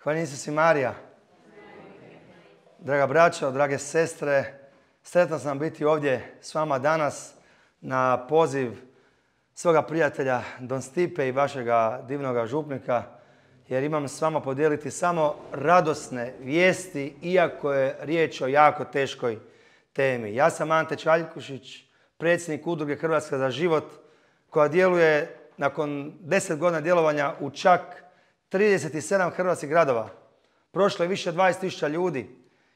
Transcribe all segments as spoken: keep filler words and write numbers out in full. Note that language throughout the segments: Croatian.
Hvala Isus i Marija. Draga braćo, drage sestre, sretan sam biti ovdje s vama danas na poziv svoga prijatelja Don Stipe i vašega divnoga župnika, jer imam s vama podijeliti samo radosne vijesti, iako je riječ o jako teškoj temi. Ja sam Ante Čaljkušić, predsjednik udruge Hrvatska za život, koja djeluje nakon deset godina djelovanja u čak trideset sedam hrvatskih gradova. Prošlo je više od dvadeset tisuća ljudi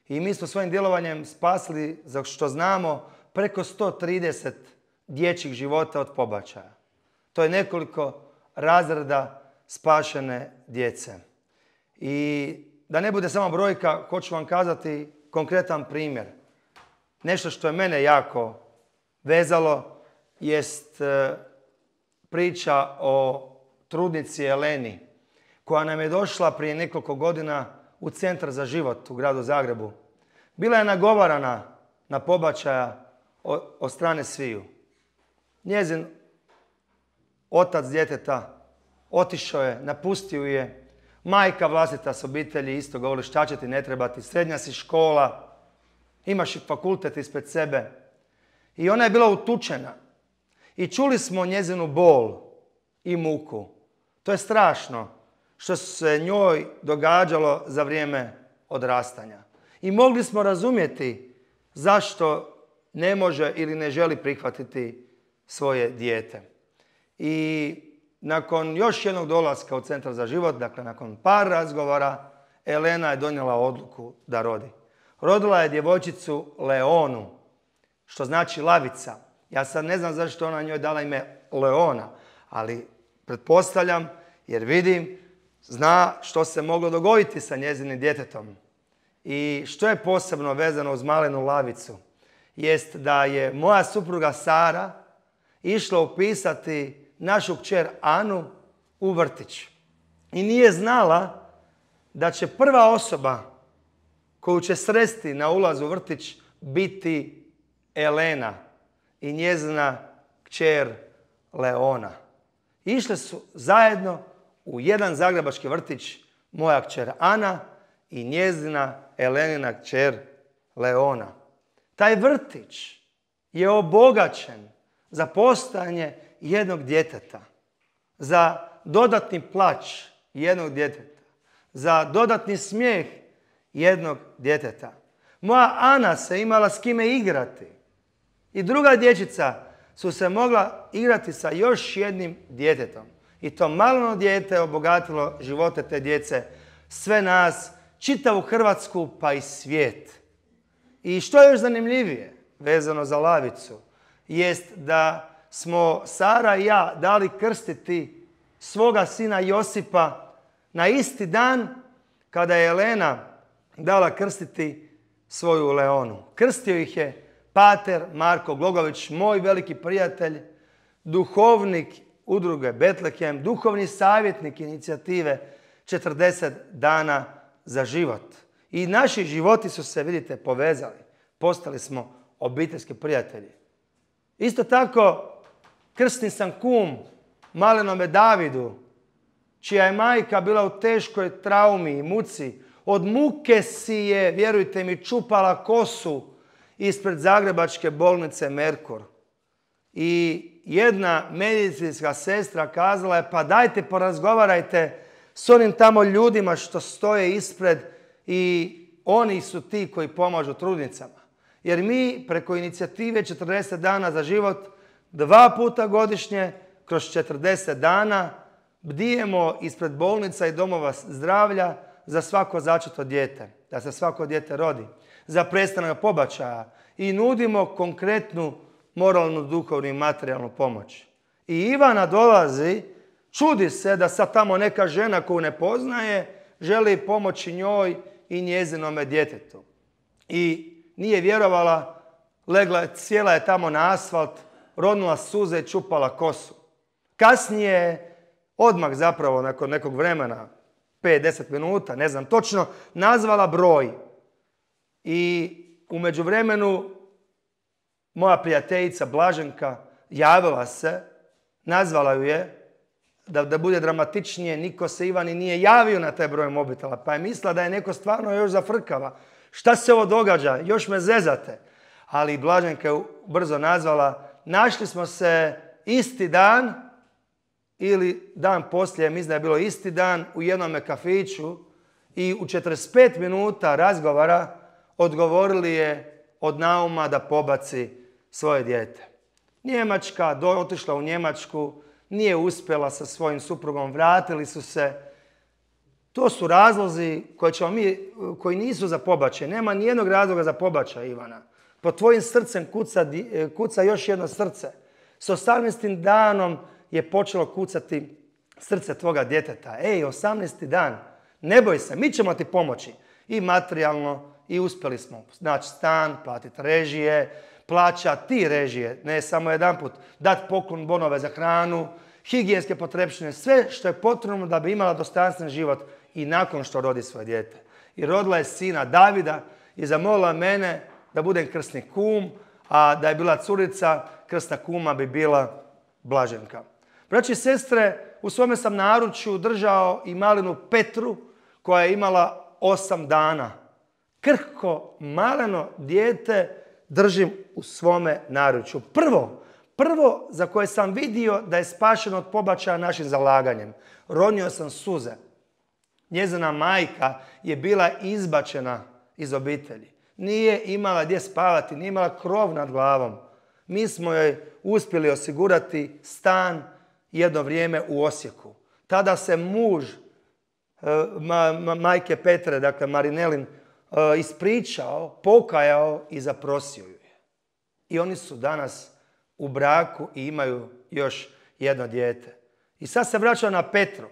i mi smo svojim djelovanjem spasili, za što znamo, preko sto trideset dječjih života od pobačaja. To je nekoliko razreda spašene djece. I da ne bude samo brojka, hoću vam kazati konkretan primjer. Nešto što je mene jako vezalo jest priča o trudnici Eleni, koja nam je došla prije nekoliko godina u Centar za život u gradu Zagrebu. Bila je nagovarana na pobačaja od strane sviju. Njezin otac djeteta otišao je, napustio je. Majka vlastita s obitelji isto govori šta će ti ne trebati, srednja si škola, imaš i fakultet ispred sebe. I ona je bila utučena. I čuli smo njezinu bol i muku. To je strašno što se njoj događalo za vrijeme odrastanja. I mogli smo razumjeti zašto ne može ili ne želi prihvatiti svoje dijete. I nakon još jednog dolaska u Centar za život, dakle nakon par razgovora, Elena je donijela odluku da rodi. Rodila je djevojčicu Leonu, što znači lavica. Ja sad ne znam zašto ona njoj dala ime Leona, ali pretpostavljam jer vidim, zna što se moglo dogoditi sa njezinim djetetom. I što je posebno vezano uz malenu lavicu, jest da je moja supruga Sara išla upisati našu kćer Anu u vrtić. I nije znala da će prva osoba koju će sresti na ulazu u vrtić biti Elena i njezina kćer Leona. Išle su zajedno u jedan zagrebački vrtić, moja kćer Ana i njezina Elenina kćer Leona. Taj vrtić je obogaćen za postojanje jednog djeteta, za dodatni plać jednog djeteta, za dodatni smijeh jednog djeteta. Moja Ana se imala s kime igrati i druga dječica su se mogla igrati sa još jednim djetetom. I to maleno dijete je obogatilo živote te djece, sve nas, čitavu Hrvatsku pa i svijet. I što je još zanimljivije vezano za lavicu, jest da smo Sara i ja dali krstiti svoga sina Josipa na isti dan kada je Elena dala krstiti svoju Leonu. Krstio ih je pater Marko Glogović, moj veliki prijatelj, duhovnik udruge Betlehem, duhovni savjetnik inicijative četrdeset dana za život. I naši životi su se, vidite, povezali. Postali smo obiteljski prijatelji. Isto tako, krstni sam kum malenome Davidu, čija je majka bila u teškoj traumi i muci. Od muke si je, vjerujte mi, čupala kosu ispred zagrebačke bolnice Merkur. I jedna medicinska sestra kazala je, pa dajte porazgovarajte s onim tamo ljudima što stoje ispred i oni su ti koji pomažu trudnicama. Jer mi preko inicijative četrdeset dana za život dva puta godišnje kroz četrdeset dana bdijemo ispred bolnica i domova zdravlja za svako začeto dijete, da se svako dijete rodi, za prestanak pobačaja i nudimo konkretnu moralnu, duhovnu i materijalnu pomoć. I Ivana dolazi, čudi se da sad tamo neka žena koju ne poznaje želi pomoći njoj i njezinome djetetu. I nije vjerovala, legla, sjela je tamo na asfalt, ronula suze i čupala kosu. Kasnije, odmah zapravo nakon nekog vremena, pet do deset minuta, ne znam točno, nazvala broj. I u međuvremenu moja prijateljica Blaženka javila se, nazvala ju je, da, da bude dramatičnije, niko se Ivani nije javio na taj broj mobitela, pa je mislila da je neko stvarno još zafrkava. Šta se ovo događa? Još me zezate. Ali Blaženka je brzo nazvala, našli smo se isti dan ili dan poslije, mislim da je bilo isti dan, u jednom kafiću i u četrdeset pet minuta razgovora odgovorili je od nauma da pobaci svoje dijete. Njemačka, do, otišla u Njemačku, nije uspjela sa svojim suprugom, vratili su se. To su razlozi koje ćemo mi, koji nisu za pobačaj. Nema nijednog razloga za pobačaj, Ivana. Pod tvojim srcem kuca, kuca još jedno srce. S osamnaestim danom je počelo kucati srce tvoga djeteta. Ej, osamnaesti dan, ne boj se, mi ćemo ti pomoći. I materijalno, i uspjeli smo naći stan, platiti režije, plaćati režije, ne samo jedanput, dati poklon bonove za hranu, higijenske potrepštine, sve što je potrebno da bi imala dostojanstven život i nakon što rodi svoje dijete. I rodila je sina Davida i zamolila mene da budem krsni kum, a da je bila curica, krsna kuma bi bila Blaženka. Braći i sestre, u svome sam naručju držao i malenu Petru koja je imala osam dana. Krhko, maleno dijete držim u svome naručju. Prvo, prvo za koje sam vidio da je spašeno od pobačaja našim zalaganjem. Ronio sam suze. Njezina majka je bila izbačena iz obitelji. Nije imala gdje spavati, nije imala krov nad glavom. Mi smo joj uspjeli osigurati stan jedno vrijeme u Osijeku. Tada se muž ma, ma, majke Petre, dakle Marinelin, ispričao, pokajao i zaprosio ju je. I oni su danas u braku i imaju još jedno dijete. I sad se vraćam na Petru.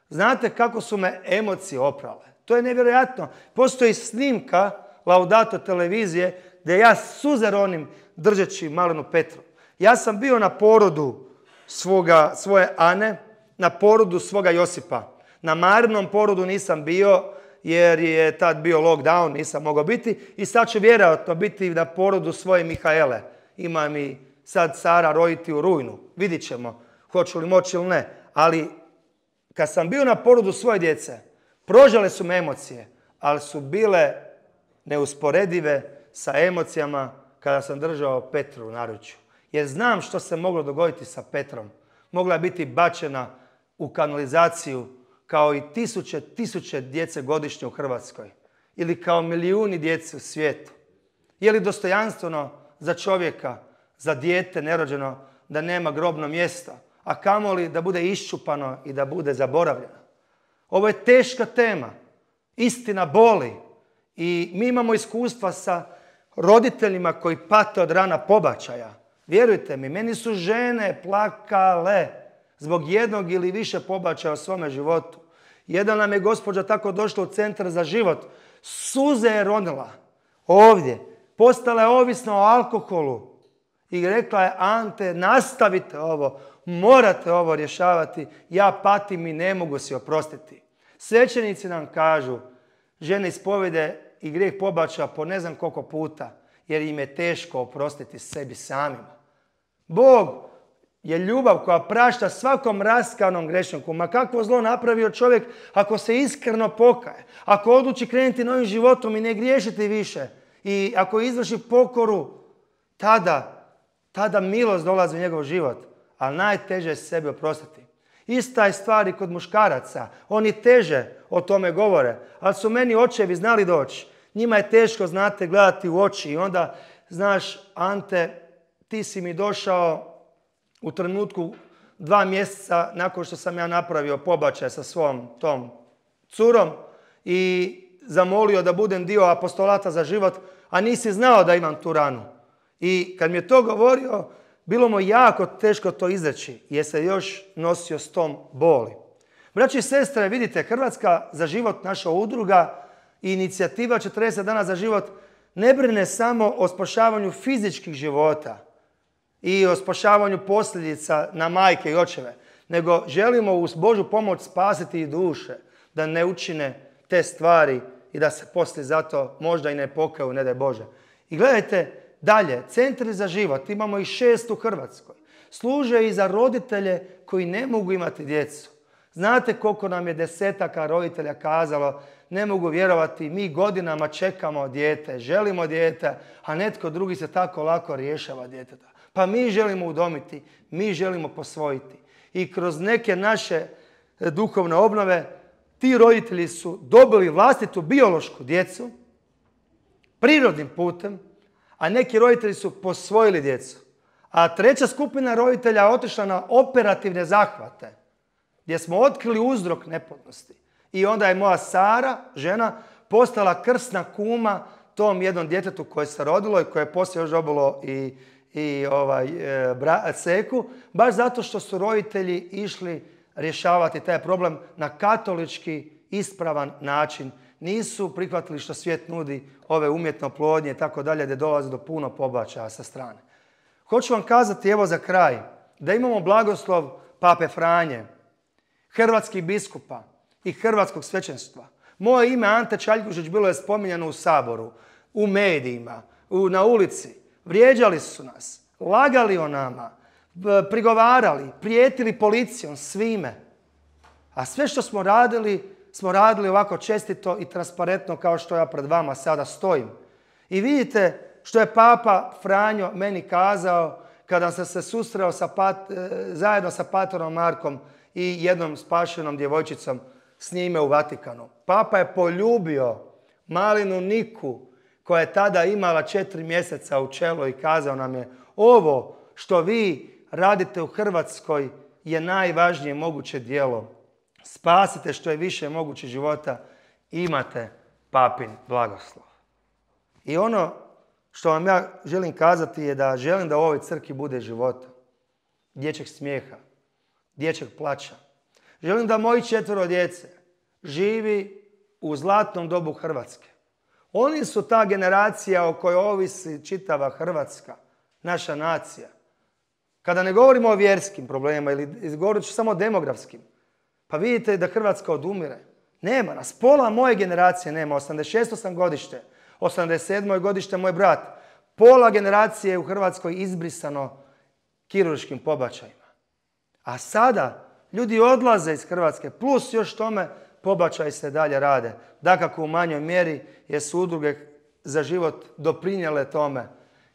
Znate kako su me emocije oprale? To je nevjerojatno. Postoji snimka Laudato televizije gdje ja suze ronim držeći malenu Petru. Ja sam bio na porodu svoga, svoje Ane, na porodu svoga Josipa. Na Marinom porodu nisam bio jer je tad bio lockdown, nisam mogao biti. I sad ću vjerojatno biti na porodu svoje Mihaele. Ima mi sad Sara roditi u rujnu. Vidit ćemo hoću li moći ili ne. Ali kad sam bio na porodu svoje djece, prožale su me emocije, ali su bile neusporedive sa emocijama kada sam držao Petru u naručju. Jer znam što se moglo dogoditi sa Petrom. Mogla je biti bačena u kanalizaciju kao i tisuće, tisuće djece godišnje u Hrvatskoj. Ili kao milijuni djece u svijetu. Je li dostojanstveno za čovjeka, za dijete nerođeno, da nema grobno mjesto, a kamoli da bude iščupano i da bude zaboravljeno? Ovo je teška tema. Istina boli. I mi imamo iskustva sa roditeljima koji pate od rana pobačaja. Vjerujte mi, meni su žene plakale zbog jednog ili više pobačaja u svome životu. Jedna nam je gospođa tako došla u centar za život. Suze je ronila ovdje. Postala je ovisna o alkoholu. I rekla je, Ante, nastavite ovo. Morate ovo rješavati. Ja patim i ne mogu si oprostiti. Svećenici nam kažu, žene ispovjede i grijeh pobačaja po ne znam koliko puta, jer im je teško oprostiti sebi samima. Bog je ljubav koja prašta svakom raskanom grešniku. Ma kakvo zlo napravio čovjek ako se iskreno pokaje, ako odluči krenuti novim životom i ne griješiti više, i ako izvrši pokoru, tada, tada milost dolazi u njegov život. Ali najteže je sebi oprostiti. Ista je stvar i kod muškaraca. Oni teže o tome govore, ali su meni očevi znali doći. Njima je teško, znate, gledati u oči i onda, znaš, Ante, ti si mi došao u trenutku dva mjeseca nakon što sam ja napravio pobačaj sa svom tom curom i zamolio da budem dio apostolata za život, a nisi znao da imam tu ranu. I kad mi je to govorio, bilo mu jako teško to izreći, jer se još nosio s tom boli. Braći i sestre, vidite, Hrvatska za život, naša udruga i inicijativa četrdeset dana za život ne brine samo o spašavanju fizičkih života i o spašavanju posljedica na majke i očeve, nego želimo uz Božju pomoć spasiti i duše, da ne učine te stvari i da se poslije zato možda i ne pokaju, ne daj Bože. I gledajte dalje, centri za život, imamo ih šest u Hrvatskoj. služe i za roditelje koji ne mogu imati djecu. Znate koliko nam je desetaka roditelja kazalo, ne mogu vjerovati, mi godinama čekamo dijete, želimo dijete, a netko drugi se tako lako rješava djeteta. Pa mi želimo udomiti, mi želimo posvojiti. I kroz neke naše duhovne obnove ti roditelji su dobili vlastitu biološku djecu prirodnim putem, a neki roditelji su posvojili djecu. A treća skupina roditelja otišla na operativne zahvate, gdje smo otkrili uzrok neplodnosti. I onda je moja Sara, žena, postala krsna kuma tom jednom djetetu koje se rodilo i koje je poslije još dobilo i, i ovaj, e, bra, seku, baš zato što su roditelji išli rješavati taj problem na katolički ispravan način. Nisu prihvatili što svijet nudi, ove umjetne oplodnje i tako dalje, gdje dolazi do puno pobačaja sa strane. Hoću vam kazati, evo za kraj, da imamo blagoslov Pape Franje, hrvatskih biskupa i hrvatskog svećenstva. Moje ime Ante Čaljkušić bilo je spominjano u Saboru, u medijima, u, na ulici. Vrijeđali su nas, lagali o nama, prigovarali, prijetili policijom, svime. A sve što smo radili, smo radili ovako čestito i transparentno kao što ja pred vama sada stojim. I vidite što je Papa Franjo meni kazao kada sam se susreo sa pat, zajedno sa Patorom Markom i jednom spašenom djevojčicom s njime u Vatikanu. Papa je poljubio malinu Niku koja je tada imala četiri mjeseca u čelo i kazao nam je, ovo što vi radite u Hrvatskoj je najvažnije moguće djelo. Spasite što je više moguće života, imate papin blagoslov. I ono što vam ja želim kazati je da želim da u ovoj crkvi bude života, dječjeg smijeha, dječjeg plaća. Želim da moji četvero djece živi u zlatnom dobu Hrvatske. Oni su ta generacija o kojoj ovisi čitava Hrvatska, naša nacija. Kada ne govorimo o vjerskim problemima ili govorit ću samo o demografskim, pa vidite da Hrvatska odumire. Nema nas. Pola moje generacije nema. osamdeset šesto sam godište. osamdeset sedmo je godište moj brat. Pola generacije je u Hrvatskoj izbrisano kirurškim pobačajima. A sada ljudi odlaze iz Hrvatske. Plus još tome pobačaji se dalje rade. Dakako u manjoj mjeri jer su udruge za život doprinijele tome.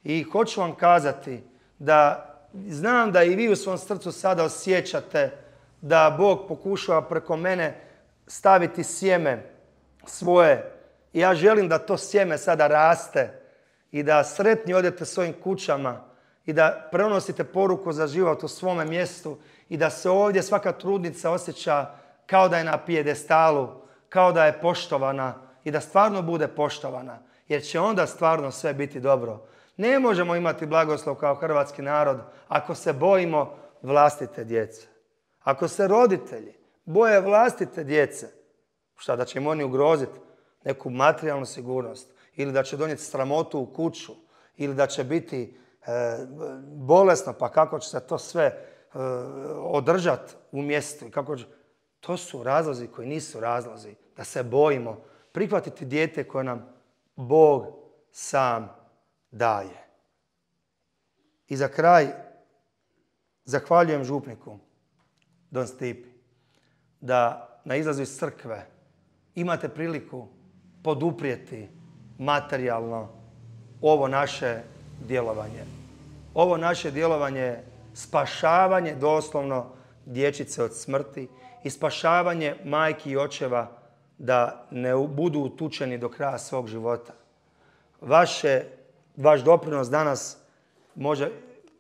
I hoću vam kazati da znam da i vi u svom srcu sada osjećate da Bog pokušava preko mene staviti sjeme svoje. I ja želim da to sjeme sada raste i da sretni odete svojim kućama i da prenosite poruku za život u svome mjestu i da se ovdje svaka trudnica osjeća kao da je na pijedestalu, kao da je poštovana i da stvarno bude poštovana, jer će onda stvarno sve biti dobro. Ne možemo imati blagoslov kao hrvatski narod ako se bojimo vlastite djece. Ako se roditelji boje vlastite djece, šta da će im oni ugroziti neku materijalnu sigurnost ili da će donijeti sramotu u kuću ili da će biti e, bolesno, pa kako će se to sve e, održati u mjestu. I kako će... To su razlozi koji nisu razlozi da se bojimo prihvatiti dijete koje nam Bog sam daje. I za kraj zahvaljujem župniku Don Stipi da na izlazu iz crkve imate priliku poduprijeti materijalno ovo naše djelovanje. Ovo naše djelovanje je spašavanje doslovno dječice od smrti i spašavanje majki i očeva da ne budu utučeni do kraja svog života. Vaše, vaš doprinos danas može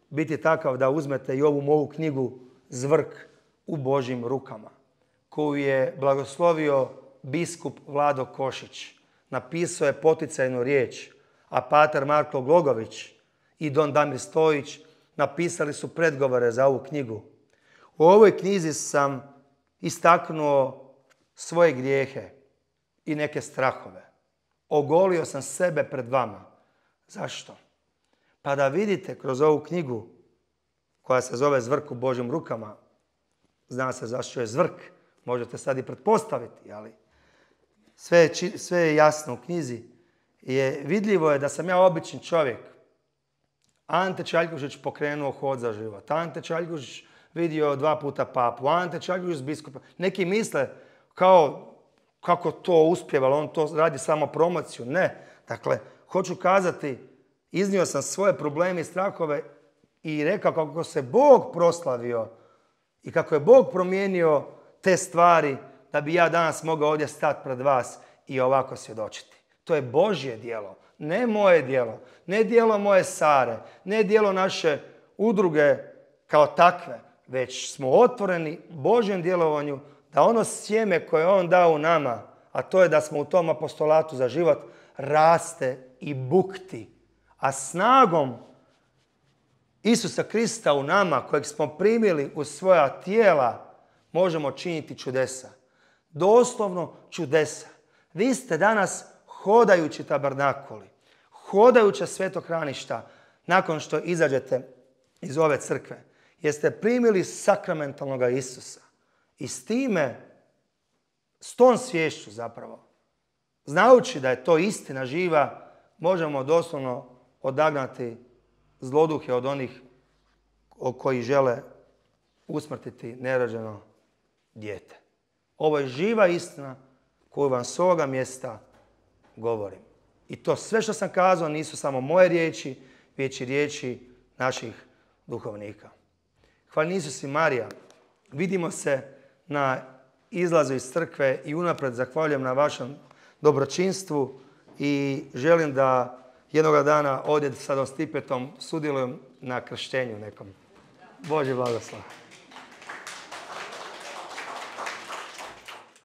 biti takav da uzmete i ovu moju knjigu Zvrk u Božjim rukama, koju je blagoslovio biskup Vlado Košić. Napisao je poticajnu riječ, a pater Marko Glogović i don Damir Stojić napisali su predgovore za ovu knjigu. U ovoj knjizi sam istaknuo svoje grijehe i neke strahove. Ogolio sam sebe pred vama. Zašto? Pa da vidite kroz ovu knjigu koja se zove Zvrk u Božjim rukama, zna se zašto je zvrk, možete sad i pretpostaviti, ali sve je, sve je jasno u knjizi. Je, vidljivo je da sam ja obični čovjek, Ante Čaljkušić pokrenuo Hod za život. Ante Čaljkušić vidio dva puta papu. Ante Čaljkušić biskupa. Neki misle kao kako to uspjevalo, on to radi samo promociju. Ne. Dakle, hoću kazati, iznio sam svoje probleme i strahove i rekao kako se Bog proslavio i kako je Bog promijenio te stvari da bi ja danas mogao ovdje stati pred vas i ovako svjedočiti. To je Božje djelo, ne moje djelo, ne djelo moje Sare, ne djelo naše udruge kao takve, već smo otvoreni Božjem djelovanju da ono sjeme koje on dao u nama, a to je da smo u tom apostolatu za život, raste i bukti. A snagom Isusa Krista u nama, kojeg smo primili u svoja tijela, možemo činiti čudesa. Doslovno čudesa. Vi ste danas hodajući tabernakuli, hodajuća svetohraništa nakon što izađete iz ove crkve. Jer ste primili sakramentalnog Isusa. I s time, s tom sviješću zapravo, znajući da je to istina živa, možemo doslovno odagnati zloduhe od onih koji žele usmrtiti nerođeno dijete. Ovo je živa istina koju vam s ovoga mjesta govorim. I to sve što sam kazao nisu samo moje riječi, već i riječi naših duhovnika. Hvala Isus i Marija. Vidimo se na izlazu iz crkve i unaprijed zahvaljujem na vašem dobročinstvu i želim da jednoga dana ovdje sa Don Stipetom sudjelujem na krštenju nekom. Božji blagoslov.